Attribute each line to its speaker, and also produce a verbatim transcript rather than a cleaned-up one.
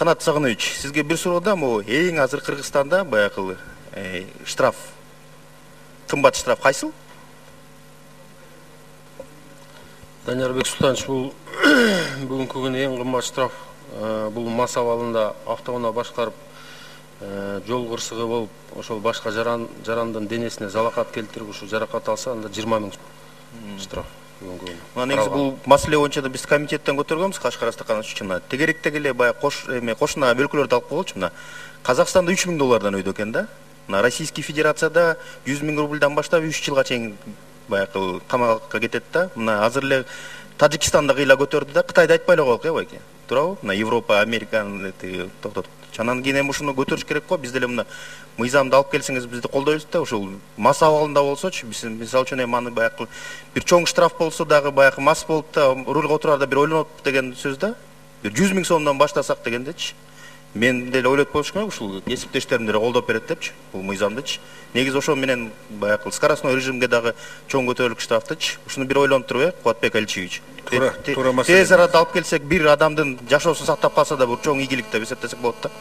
Speaker 1: Канат Сагынович, сизге бир суроо да, могу эң азыр Кыргызстанда баягы штраф, кымбат штраф кайсыл?
Speaker 2: Даниярбек Султанович, бул бүгүнкү күнү эң кымбат штраф бул мас абалында автоунаа башкарып жол кырсыгы болуп, ошол башка жарандын денесине залакат келтирип, ушу жаракат алса, анда жыйырма миң штраф.
Speaker 1: Мына негизи бул маселе боюнча да биз комитеттен көтөргөнбүз, Кашкар Астакан үчүн. Тегеректеги эле баягы кош эме кошуна бөлкөлөрдү алып койгончу. Мына Казакстанда үч миң доллардан өйдө экен да. Мына Российский Федерацияда жүз миң рубльдан баштап үч жылга чейин баягы камакка кетет да. Мына азыр эле Тажикстанда кыйла көтөрдү да, Кытайды айтпай эле коелук, э байке. Туурабы? Мына Европа, Американы токтотуп. Чанан кийин эми ушуну көтөрүш керек го. Биз деле мына мыйзамды алып келсеңиз бизди колдойбуз да. Ошол мас абалында болсочу, биз мисалы үчүн эми аны баягы бир чоң штраф болсо дагы баягы мас болуп да рулга отурарда бир ойлонот деген сөз да. Бир жүз миң сомдон баштасак дегендечи. Мен деле ойлоп коюш керек, ушул кесиптештерим деле колдоп берет депчи, бул мыйзамдычы. Негизи ошо менен баягы скоростной режимге дагы чоң көтөрүлүк штрафтычы. Ушуну бир ойлонуп туруп, э, Кубатбек Аличевич.
Speaker 2: Туура, туура маселе.
Speaker 1: Тез арада алып келсек, бир адамдын жашоосун сактап калса да бул чоң ийгилик деп эсептесек болот да.